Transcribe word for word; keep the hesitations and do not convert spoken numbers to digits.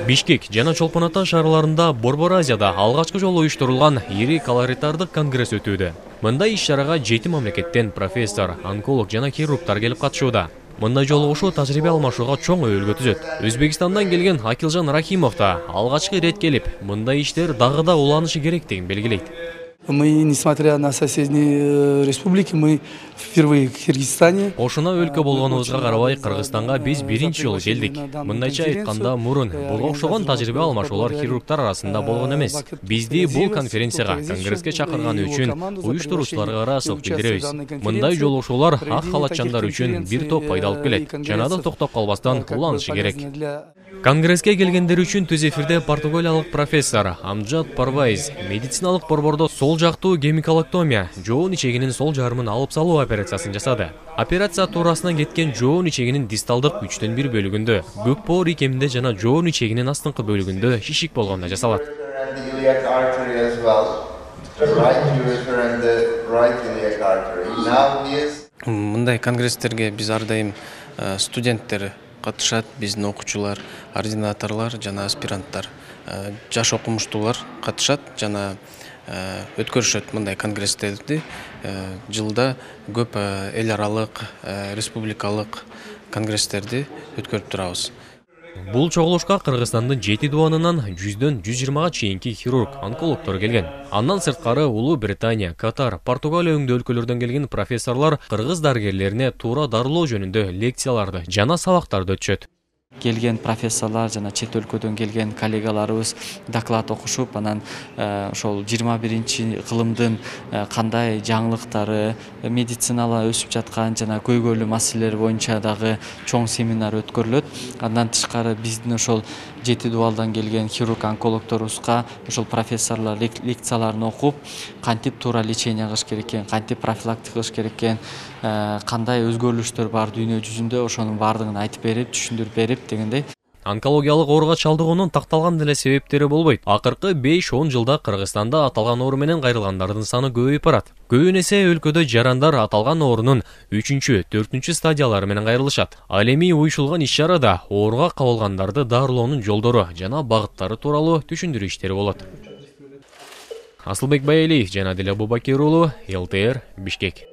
Бишкек жана Чолпон Ата шаарларында Борбор Азияда алгачкы жолу уюштурулган ири колоритардык конгресс өтүүдө. Мындай иш-чарага жети мамлекеттен профессор, онколог жана хирургдар келип катышууда. Мындай жолугушуу тажрыйба алмашууга чоң өбөлгө түзөт. Өзбекстандан келген Акилжан Рахимов да алгачкы ирет келип, мындай иштер дагы да уланышы керектигин белгилейт. Мы, несмотря на соседние республики, мы впервые в Киргизстане. Ошуна өлкө болгонубузга карабай, Кыргызстанга биз биринчи жолу келдик. Мындайча айтканда, мурун буга окшогон тажрыйба алмашуулар хирургдар арасында болгон эмес. Бизди бул конференцияга, конгресске чакырганы үчүн уюштуруучуларга ыраазычылык билдиребиз. Мындай жолугушуулар ак халатчандар үчүн бир топ пайда алып келет. Жана да токтоп калбастан уланышы керек. Конгресске келгендер үчүн түз эфирде португалиялык профессор Амджад Парвайз медициналык борбордо сол жактуу гемиколоктомия, жоон ичегинин сол жарымын алып салуу операциясын жасады. Операция туурасынан кеткен жоон ичегинин дисталдык үчтөн бир бөлүгүндө, көк боор икеминде жана жоон ичегинин астыңкы бөлүгүндө шишик болгонда жасалат. Мындай конгресстерге биз ар дайым студенттер катышат, биздин окуучулар, ординаторлор жана аспиранттар, жаш окумуштуулар катышат жана өткөрүшөт мындай конгресстерди. Жылда көп эл аралык, республикалык конгресстерди өткөрүп турабыз. Бул чогулушка Кыргызстандын жети дубанынан жүздөн жүз жыйырмага чейинки хирург, онкологдор келген. Андан сырткары Улуу Британия, Катар, Португалия өңдүү өлкөлөрдөн келген профессорлор кыргыз дарыгерлерине туура дарылоо жөнүндө лекцияларды жана сабактарды өтүшөт. Келген профессорлар жана чет өлкөдөн келген коллегаларыбыз доклад окушуп, анан ошол жыйырма биринчи кылымдын кандай жаңылыктары, медицинала өсүп жаткан жана көйгөйлүү маселелер боюнча дагы чоң семинар өткөрүлөт. Андан тышкары биздин ошол жети дубалдан келген хирург онкологдорубузга ошол профессорлор лекцияларын окуп, кантип туура лечение кылыш керек экен, кантип профилактика кылыш керек экен, кандай өзгөрүлүштөр бар дүйнө жүзүндө, ошонун баардыгын айтып берип, түшүндүрүп берип дегендей. Онкологиялык ооруга чалдыгуунун такталган деле себептери болбойт. Акыркы беш он жылда Кыргызстанда аталган оору менен кайрылгандардын саны көбөйүп барат. Көбүн эсе өлкөдө жарандар аталган оорунун үчүнчү, төртүнчү стадиялары менен кайрылышат. Ал эми уюшулган иш-чарада ооруга кабылгандарды дарылоонун жолдору жана багыттары тууралуу түшүндүрүү иштери болот. Асылбек Байалиев жана Диле Бубакир уулу, эл тэ эр, Бишкек.